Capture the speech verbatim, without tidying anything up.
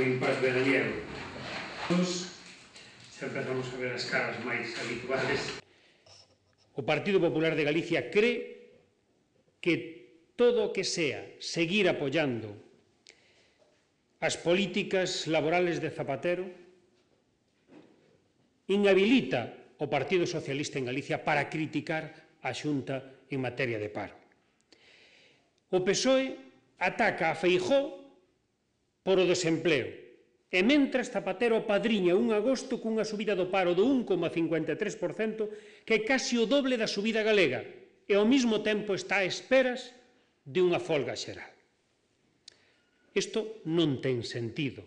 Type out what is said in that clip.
O impas veraniego. Xa empezamos a ver as caras máis habituales. O Partido Popular de Galicia cree que todo o que sea seguir apoiando as políticas laborales de Zapatero inhabilita o Partido Socialista en Galicia para criticar a Xunta en materia de paro. O P S O E ataca a Feijóo por o desempleo e mentras Zapatero apadriña un agosto cunha subida do paro do un coma cincuenta e tres por cento que é casi o doble da subida galega e ao mesmo tempo está a esperas de unha folga xeral. Isto non ten sentido.